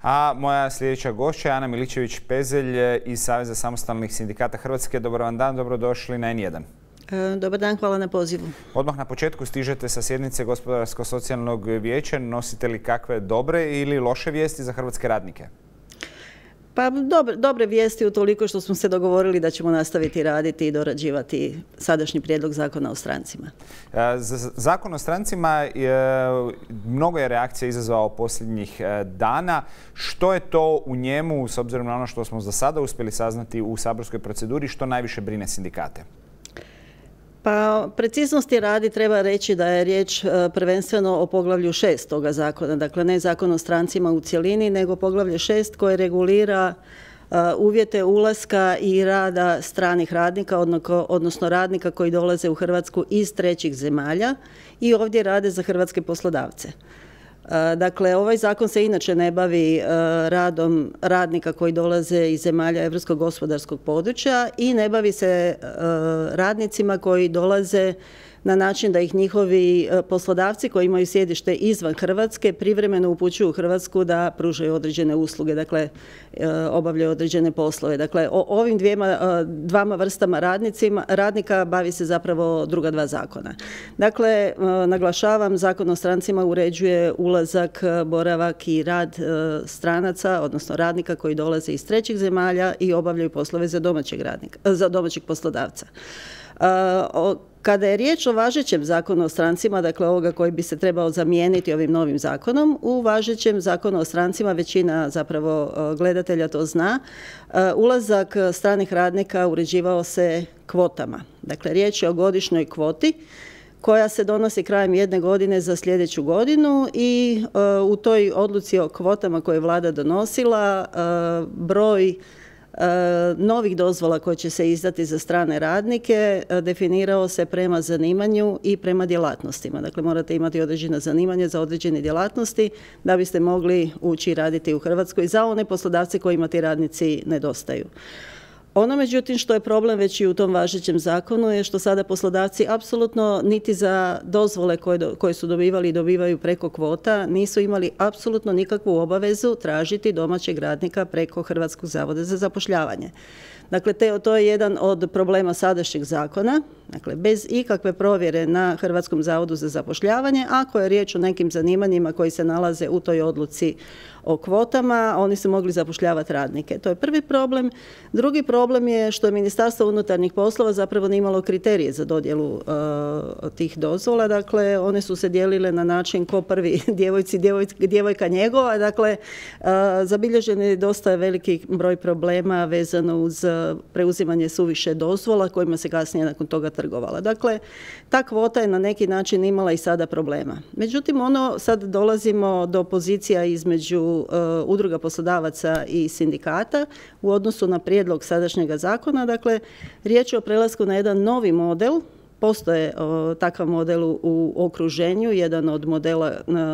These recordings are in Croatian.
A moja sljedeća gošća je Ana Miličević-Pezelj iz Saveza samostalnih sindikata Hrvatske. Dobar vam dan, dobrodošli na N1. Dobar dan, hvala na pozivu. Odmah na početku stižete sa sjednice Gospodarsko-socijalnog vijeća. Nosite li kakve dobre ili loše vijesti za hrvatske radnike? Pa dobre vijesti utoliko što smo se dogovorili da ćemo nastaviti raditi i dorađivati sadašnji prijedlog zakona o strancima. Zakon o strancima mnogo je reakcija izazvao posljednjih dana. Što je to u njemu, s obzirom na ono što smo za sada uspjeli saznati u saborskoj proceduri, što najviše brine sindikate? Pa preciznosti radi treba reći da je riječ prvenstveno o poglavlju 6 toga zakona, dakle ne zakon o strancima u cjelini, nego poglavlje 6 koje regulira uvjete ulaska i rada stranih radnika, odnosno radnika koji dolaze u Hrvatsku iz trećih zemalja i ovdje rade za hrvatske poslodavce. Dakle, ovaj zakon se inače ne bavi radom radnika koji dolaze iz zemalja Europskog gospodarskog područja i ne bavi se radnicima koji dolaze na način da ih njihovi poslodavci koji imaju sjedište izvan Hrvatske privremeno upućuju u Hrvatsku da pružaju određene usluge, dakle obavljaju određene poslove. Dakle, o ovim dvama vrstama radnika bavi se zapravo druga dva zakona. Dakle, naglašavam, Zakon o strancima uređuje ulazak, boravak i rad stranaca, odnosno radnika koji dolaze iz trećih zemalja i obavljaju poslove za domaćeg poslodavca. Kada je riječ o važećem zakonu o strancima, dakle ovoga koji bi se trebao zamijeniti ovim novim zakonom, u važećem zakonu o strancima većina zapravo gledatelja to zna, ulazak stranih radnika uređivao se kvotama. Dakle, riječ je o godišnjoj kvoti koja se donosi krajem jedne godine za sljedeću godinu i u toj odluci o kvotama koje je vlada donosila broj novih dozvola koje će se izdati za strane radnike definirao se prema zanimanju i prema djelatnostima. Dakle, morate imati određena zanimanja za određene djelatnosti da biste mogli ući raditi u Hrvatskoj za one poslodavce kojima ti radnici nedostaju. Ono, međutim, što je problem već i u tom važećem zakonu je što sada poslodavci apsolutno niti za dozvole koje su dobivali i dobivaju preko kvota nisu imali apsolutno nikakvu obavezu tražiti domaćeg radnika preko Hrvatskog zavoda za zapošljavanje. Dakle, to je jedan od problema sadašnjeg zakona. Dakle, bez ikakve provjere na Hrvatskom zavodu za zapošljavanje, ako je riječ o nekim zanimanjima koji se nalaze u toj odluci o kvotama, oni su mogli zapošljavati radnike. To je prvi problem. Drugi problem je što je Ministarstvo unutarnjih poslova zapravo nije imalo kriterije za dodjelu tih dozvola. Dakle, one su se dijelile na način ko prvi djevojka njegova. Dakle, zabilježen je dosta veliki broj problema vezano uz preuzimanje suviše dozvola kojima se kasnije nakon toga trgovala. Dakle, ta kvota je na neki način imala i sada problema. Međutim, sad dolazimo do pozicija između udruga poslodavaca i sindikata u odnosu na prijedlog sadašnjega zakona. Dakle, riječ je o prelasku na jedan novi model. Postoje takav model u okruženju, jedan od modela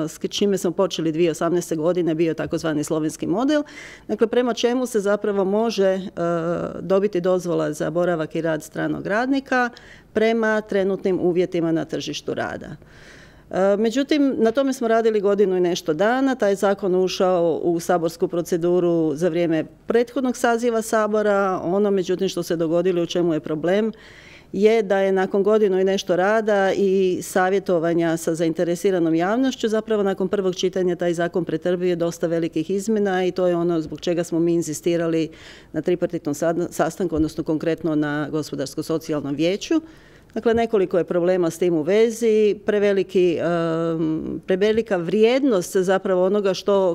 s čime smo počeli 2018. godine bio takozvani slovenski model, dakle prema čemu se zapravo može dobiti dozvola za boravak i rad stranog radnika prema trenutnim uvjetima na tržištu rada. Međutim, na tome smo radili godinu i nešto dana. Taj zakon ušao u saborsku proceduru za vrijeme prethodnog saziva Sabora. Ono, međutim, što se dogodilo, u čemu je problem, je da je nakon godinu i nešto rada i savjetovanja sa zainteresiranom javnošću zapravo nakon prvog čitanja taj zakon pretrpio dosta velikih izmjena i to je ono zbog čega smo mi inzistirali na tripartitnom sastanku, odnosno konkretno na Gospodarsko-socijalnom vijeću. Dakle, nekoliko je problema s tim u vezi, prevelika vrijednost zapravo onoga što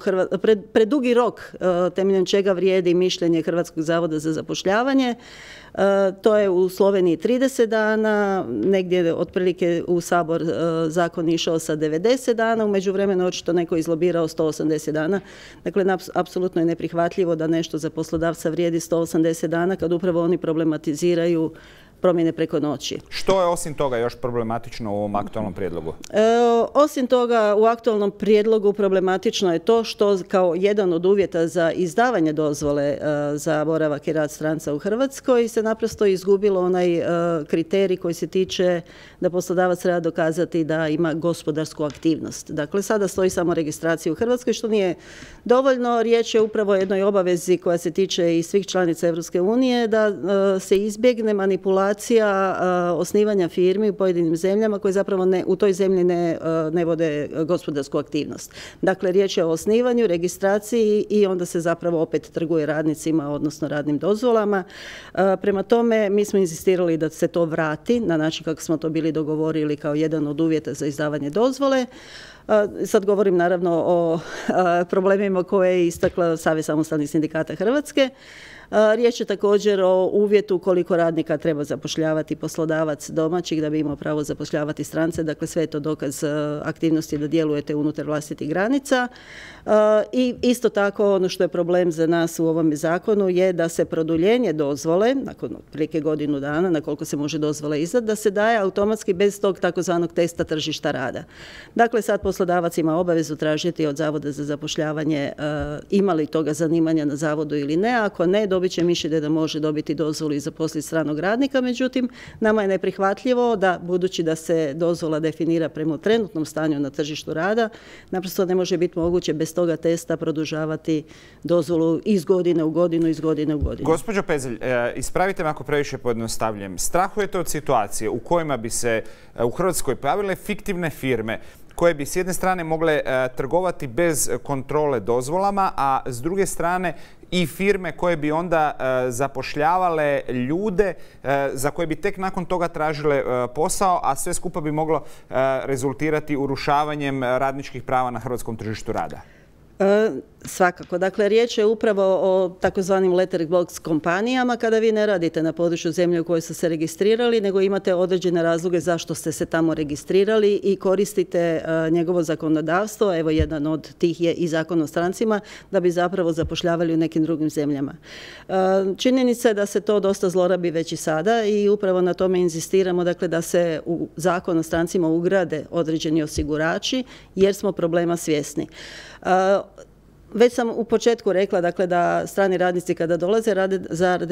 predugi rok temeljem čega vrijedi mišljenje Hrvatskog zavoda za zapošljavanje. To je u Sloveniji 30 dana, negdje otprilike u Sabor zakon išao sa 90 dana, u međuvremenu očito neko izlobirao 180 dana. Dakle, apsolutno je neprihvatljivo da nešto za poslodavca vrijedi 180 dana kad upravo oni problematiziraju promjene preko noći. Što je osim toga još problematično u ovom aktualnom prijedlogu? Osim toga, u aktualnom prijedlogu problematično je to što kao jedan od uvjeta za izdavanje dozvole za boravak i rad stranca u Hrvatskoj se naprosto izgubilo onaj kriterij koji se tiče da poslodavac treba dokazati da ima gospodarsku aktivnost. Dakle, sada stoji samo registracija u Hrvatskoj, što nije dovoljno. Riječ je upravo o jednoj obavezi koja se tiče i svih članica Europske unije da se izbjegne manipulacija osnivanja firmi u pojedinim zemljama koje zapravo u toj zemlji ne vode gospodarsku aktivnost. Dakle, riječ je o osnivanju, registraciji i onda se zapravo opet trguje radnicima, odnosno radnim dozvolama. Prema tome, mi smo inzistirali da se to vrati na način kako smo to bili dogovorili kao jedan od uvjeta za izdavanje dozvole. Sad govorim naravno o problemima koje je istakla Savez samostalnih sindikata Hrvatske. Riječ je također o uvjetu koliko radnika treba zapošljavati poslodavac domaćih da bi imao pravo zapošljavati strance. Dakle, sve je to dokaz aktivnosti da djelujete unutar vlastitih granica. I isto tako ono što je problem za nas u ovom zakonu je da se produljenje dozvole, nakon otprilike godinu dana, na koliko se može dozvola izdati, da se daje automatski bez tog takozvanog testa tržišta rada. Dakle, sad poslodavac ima obavezu tražiti od Zavoda za zapošljavanje ima li toga zanimanja na zavodu ili ne. Ako ne, dobit će mišljenje da može dobiti dozvolu i zaposliti stranog radnika. Međutim, nama je neprihvatljivo da, budući da se dozvola definira prema trenutnom stanju na tržištu rada, naprosto ne može biti moguće bez toga testa produžavati dozvolu iz godine u godinu, iz godine u godinu. Gospođo Pezelj, ispravite me ako previše pojednostavljujem. Strahujete od situacije u kojima bi se u Hrvatskoj pojavile fiktivne firme koje bi s jedne strane mogle trgovati bez kontrole dozvolama, a s druge strane i firme koje bi onda zapošljavale ljude za koje bi tek nakon toga tražile posao, a sve skupa bi moglo rezultirati urušavanjem radničkih prava na hrvatskom tržištu rada. Svakako. Dakle, riječ je upravo o takozvanim letterbox kompanijama kada vi ne radite na području zemlje u kojoj ste se registrirali, nego imate određene razloge zašto ste se tamo registrirali i koristite njegovo zakonodavstvo. Evo, jedan od tih je i Zakon o strancima, da bi zapravo zapošljavali u nekim drugim zemljama. Činjenica je da se to dosta zlorabi već i sada i upravo na tome inzistiramo, dakle, da se u Zakon o strancima ugrade određeni osigurači jer smo problema svjesni. Već sam u početku rekla, dakle, da strani radnici kada dolaze rade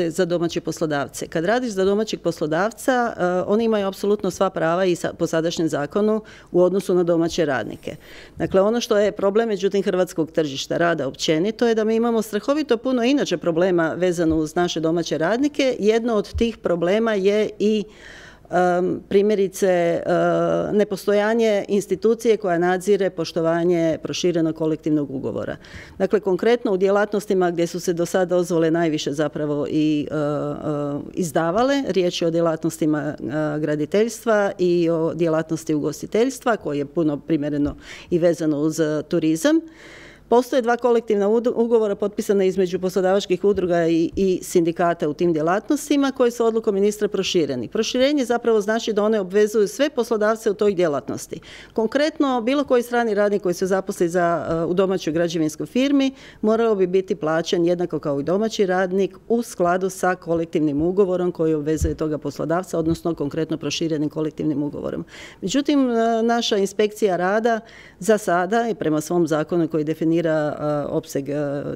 za domaće poslodavce. Kad radiš za domaćeg poslodavca, oni imaju apsolutno sva prava i po sadašnjem zakonu u odnosu na domaće radnike. Dakle, ono što je problem, međutim, hrvatskog tržišta rada općenito je da mi imamo strahovito puno inače problema vezano uz naše domaće radnike. Jedno od tih problema je i primjerice nepostojanje institucije koja nadzire poštovanje proširenog kolektivnog ugovora. Dakle, konkretno u djelatnostima gdje su se do sada dozvole najviše zapravo i izdavale, riječ je o djelatnostima graditeljstva i o djelatnosti ugostiteljstva, koje je puno primjereno i vezano uz turizam. Postoje dva kolektivna ugovora potpisana između poslodavačkih udruga i sindikata u tim djelatnostima koji su odlukom ministra prošireni. Proširenje zapravo znači da one obvezuju sve poslodavce u toj djelatnosti. Konkretno, bilo koji strani radnik koji se zaposli u domaćoj građevinskoj firmi morao bi biti plaćen jednako kao i domaći radnik u skladu sa kolektivnim ugovorom koji obvezuje toga poslodavca, odnosno konkretno proširenim kolektivnim ugovorom. Međutim, naša inspekcija rada za sada i prema svom zakonu koji definira opseg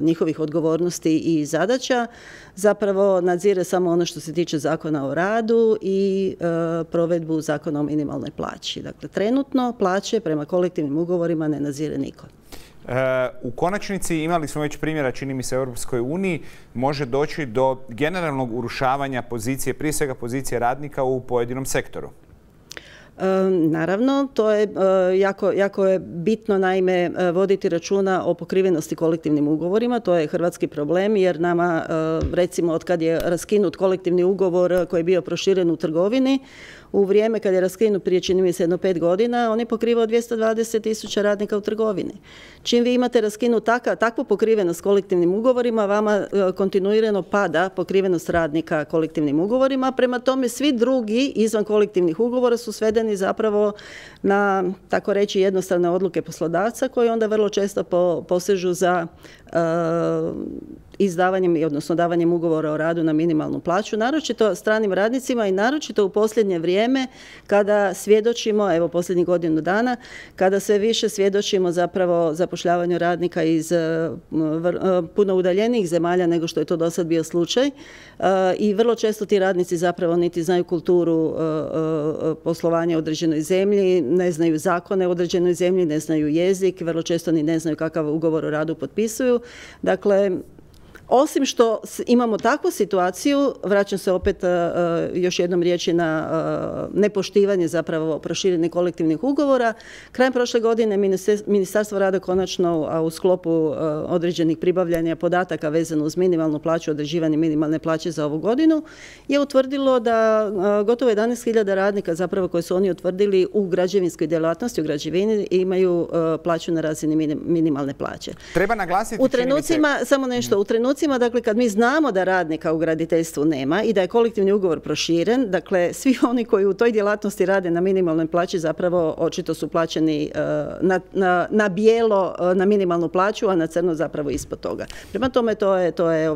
njihovih odgovornosti i zadaća, zapravo nadzire samo ono što se tiče Zakona o radu i provedbu Zakona o minimalnoj plaći. Dakle, trenutno plaće prema kolektivnim ugovorima ne nadzire niko. U konačnici imali smo već primjera, čini mi se, u Europskoj uniji, može doći do generalnog urušavanja pozicije, prije svega pozicije radnika u pojedinom sektoru. Naravno, to je jako je bitno, naime, voditi računa o pokrivenosti kolektivnim ugovorima. To je hrvatski problem jer nama, recimo, od kad je raskinut kolektivni ugovor koji je bio proširen u trgovini, u vrijeme kad je raskinut prije, čini mi se, 5 godina, on je pokrivao 220.000 radnika u trgovini. Čim vi imate raskinut takvu pokrivenost kolektivnim ugovorima, vama kontinuirano pada pokrivenost radnika kolektivnim ugovorima. Prema tome, svi drugi izvan kolektivnih ugovora su svedeni zapravo na, tako reći, jednostavne odluke poslodavca koji onda vrlo često posežu za izdavanjem, odnosno davanjem ugovora o radu na minimalnu plaću, naročito stranim radnicima i naročito u posljednje vrijeme kada svjedočimo, evo posljednjih godinu dana, kada sve više svjedočimo zapravo zapošljavanju radnika iz puno udaljenijih zemalja nego što je to do sad bio slučaj i vrlo često ti radnici zapravo niti znaju kulturu poslovanja u određenoj zemlji, ne znaju zakone u određenoj zemlji, ne znaju jezik, vrlo često ni ne znaju kakav ugovor o radu potpisuju. Dakle, osim što imamo takvu situaciju, vraćam se opet još jednom riječi na nepoštivanje zapravo proširenih kolektivnih ugovora. Krajem prošle godine Ministarstvo rada konačno, a u sklopu određenih pribavljanja podataka vezano uz minimalnu plaću, određivanje minimalne plaće za ovu godinu, je utvrdilo da gotovo 11.000 radnika zapravo koje su oni utvrdili u građevinskoj djelatnosti, u građevini, imaju plaću na razini minimalne plaće. Treba naglasiti u trenucima, samo nešto, u trenucima, dakle, kad mi znamo da radnika u graditeljstvu nema i da je kolektivni ugovor proširen, dakle, svi oni koji u toj djelatnosti rade na minimalnoj plaći zapravo očito su plaćeni na bijelo na minimalnu plaću, a na crno zapravo ispod toga. Prema tome, to je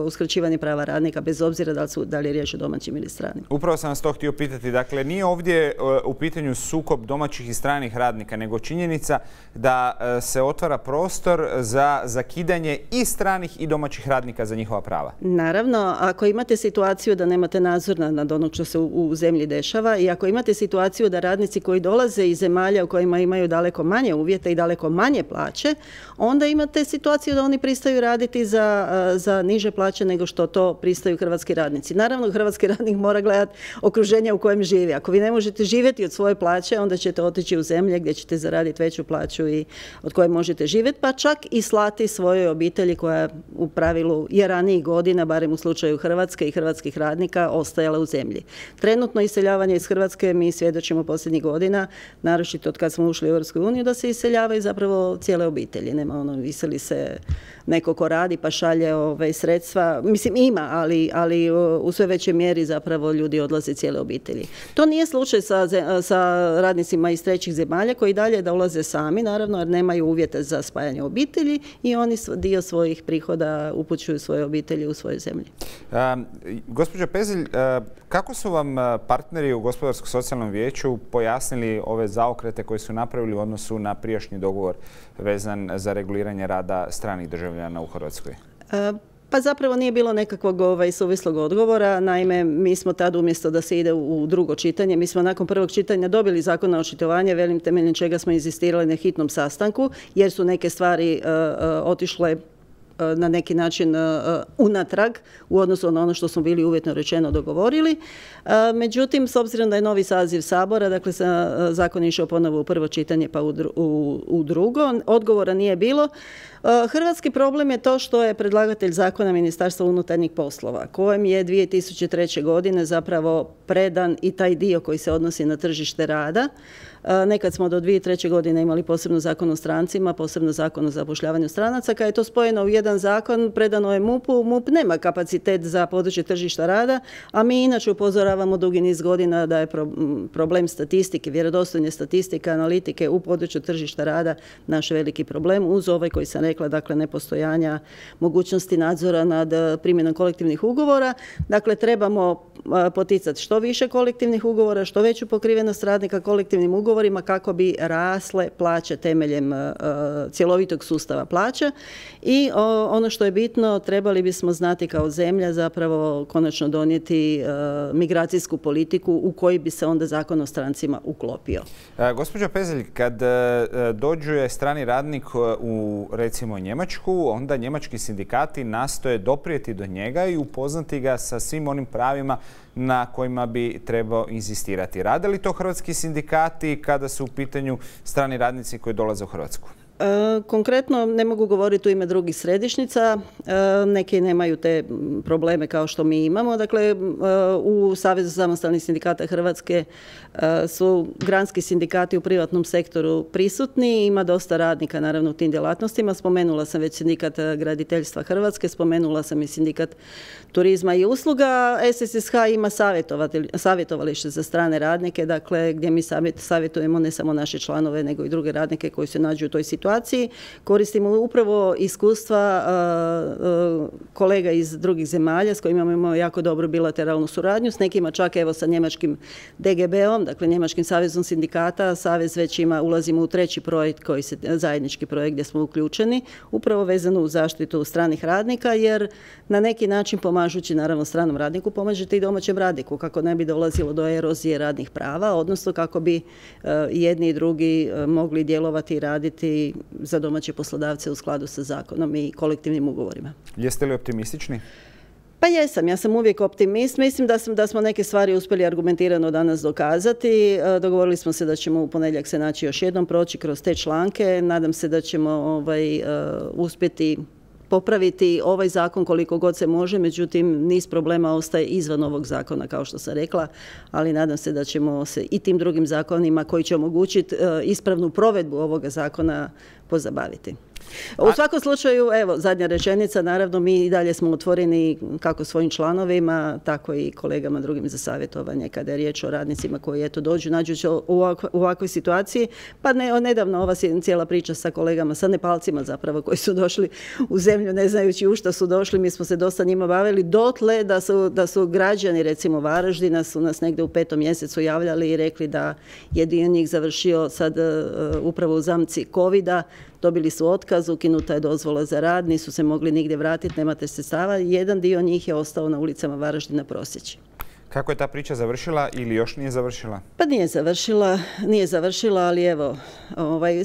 uskraćivanje prava radnika, bez obzira da li je riječ o domaćim ili stranim. Upravo sam vas to htio pitati. Dakle, nije ovdje u pitanju sukob domaćih i stranih radnika, nego činjenica da se otvara prostor za zakidanje i stranih i domaćih radnika za njihova prava. Naravno, ako imate situaciju da nemate nadzor nad onog što se u zemlji dešava i ako imate situaciju da radnici koji dolaze iz zemalja u kojima imaju daleko manje uvjete i daleko manje plaće, onda imate situaciju da oni pristaju raditi za niže plaće nego što to pristaju hrvatski radnici. Naravno, hrvatski radnik mora gledati okruženje u kojem živi. Ako vi ne možete živjeti od svoje plaće, onda ćete otići u zemlje gdje ćete zaraditi veću plaću i od koje možete živjeti, pa čak i slati svojoj obitelji koja u pravilu je ranijih godina, barem u slučaju Hrvatske i hrvatskih radnika, ostajala u zemlji. Trenutno iseljavanje iz Hrvatske mi svjedočimo posljednjih godina, naročito od kad smo ušli u Europsku uniju, da se iseljavaju zapravo cijele obitelji. Nema iseli se neko ko radi pa šalje sredstva. Mislim, ima, ali u sve većoj mjeri zapravo ljudi odlaze cijele obitelji. To nije slučaj sa radnicima iz trećih zemalja koji dalje da ulaze sami, naravno, jer nemaju uvjete za spajanje obitelji i oni dio svojih prihoda upućuju svoje obitelji u svojoj zemlji. Gospođo Pezelj, kako su vam partneri u Gospodarsko-socijalnom vijeću pojasnili ove zaokrete koje su napravili u odnosu na prijašnji dogovor vezan za reguliranje rada stranih državljana u Hrvatskoj? Pa zapravo nije bilo nekakvog suvislog odgovora. Naime, mi smo tad umjesto da se ide u drugo čitanje, mi smo nakon prvog čitanja dobili zakon na očitovanje, velim temeljem čega smo inzistirali na hitnom sastanku, jer su neke stvari otišle na neki način unatrag u odnosu na ono što smo bili uvjetno rečeno dogovorili. Međutim, s obzirom da je novi saziv Sabora, dakle zakon je išao ponovo u prvo čitanje pa u drugo, odgovora nije bilo. Hrvatski problem je to što je predlagatelj zakona Ministarstva unutarnjih poslova, kojem je 2003. godine zapravo predan i taj dio koji se odnosi na tržište rada. Nekad smo do 2003. godine imali posebno zakon o strancima, posebno zakon o zapošljavanju stranaca. Kad je to spojeno u jedan zakon, predano je MUP-u. MUP nema kapacitet za područje tržišta rada, a mi inače upozoravamo dugi niz godina da je problem statistike, vjerodostojne statistike, analitike u području tržišta rada naš veliki problem, uz ovaj koji sam rekla, dakle nepostojanja mogućnosti nadzora nad primjenom kolektivnih ugovora. Dakle, trebamo poticati što više kolektivnih ugovora, što veću pokrivenost radnika kolektivnim ugovorima kako bi rasle plaće temeljem cjelovitog sustava plaća. I ono što je bitno, trebali bismo znati kao zemlja zapravo konačno donijeti migracijsku politiku u koji bi se onda zakon o strancima uklopio. Gospođo Pezelj, kad dođe strani radnik u recimo Njemačku, onda njemački sindikati nastoje doprijeti do njega i upoznati ga sa svim onim pravima na kojima bi trebao inzistirati. Rade li to hrvatski sindikati kada su u pitanju strani radnici koji dolaze u Hrvatsku? Konkretno ne mogu govoriti u ime drugih središnjica, neki nemaju te probleme kao što mi imamo. Dakle, u Savezu samostalnih sindikata Hrvatske su granski sindikati u privatnom sektoru prisutni, ima dosta radnika naravno u tim djelatnostima. Spomenula sam već sindikat graditeljstva Hrvatske, spomenula sam i sindikat turizma i usluga. SSSH ima savjetovalište za strane radnike, dakle gdje mi savjetujemo ne samo naše članove nego i druge radnike koji se nađu u toj situaciji. situaciji. Koristimo upravo iskustva kolega iz drugih zemalja s kojima imamo jako dobru bilateralnu suradnju, s nekima čak evo sa njemačkim DGB-om, dakle Njemačkim savezom sindikata. Savez već ulazimo u treći projekt, zajednički projekt gdje smo uključeni, upravo vezano u zaštitu stranih radnika, jer na neki način pomažući naravno stranom radniku, pomažete i domaćem radniku kako ne bi dolazilo do erozije radnih prava, odnosno kako bi jedni i drugi mogli djelovati i raditi za domaće poslodavce u skladu sa zakonom i kolektivnim ugovorima. Jeste li optimistični? Pa jesam, ja sam uvijek optimist. Mislim da smo neke stvari uspjeli argumentirano danas dokazati. Dogovorili smo se da ćemo u ponedjeljak se naći još jednom, proći kroz te članke. Nadam se da ćemo uspjeti popraviti ovaj zakon koliko god se može, međutim niz problema ostaje izvan ovog zakona, kao što sam rekla, ali nadam se da ćemo se i tim drugim zakonima koji će omogućiti ispravnu provedbu ovoga zakona pozabaviti. U svakom slučaju, evo, zadnja rečenica, naravno mi i dalje smo otvoreni kako svojim članovima, tako i kolegama drugim za savjetovanje kada je riječ o radnicima koji eto dođu, nađu se u ovakvoj situaciji, pa nedavno ova cijela priča sa kolegama, sa Nepalcima zapravo koji su došli u zemlju ne znajući u što su došli, mi smo se dosta njima bavili, dotle da su građani recimo Varaždina su nas negdje u 5. mjesecu javljali i rekli da je dio njih završio sad upravo u zamci covida, dobili su otkaz, ukinuta je dozvola za rad, nisu se mogli nigdje vratiti, nemate sredstava. Jedan dio njih je ostao na ulicama Varaždina proseći. Kako je ta priča završila ili još nije završila? Pa nije završila, ali evo,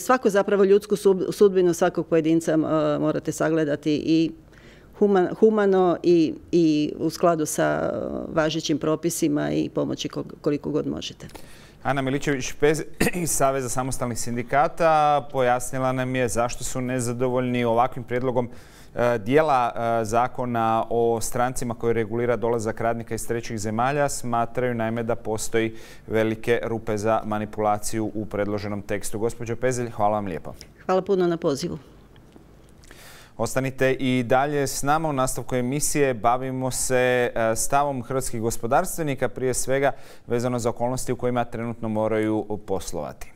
svako zapravo ljudsku sudbinu svakog pojedinca morate sagledati i humano i u skladu sa važećim propisima i pomoći koliko god možete. Ana Miličević-Pez iz Saveza samostalnih sindikata pojasnila nam je zašto su nezadovoljni ovakvim prijedlogom dijela zakona o strancima koji regulira dolazak radnika iz trećih zemalja. Smatraju naime da postoji velike rupe za manipulaciju u predloženom tekstu. Gospođo Pezelj, hvala vam lijepo. Hvala puno na pozivu. Ostanite i dalje s nama. U nastavku emisije bavimo se stavom hrvatskih gospodarstvenika, prije svega vezano za okolnosti u kojima trenutno moraju poslovati.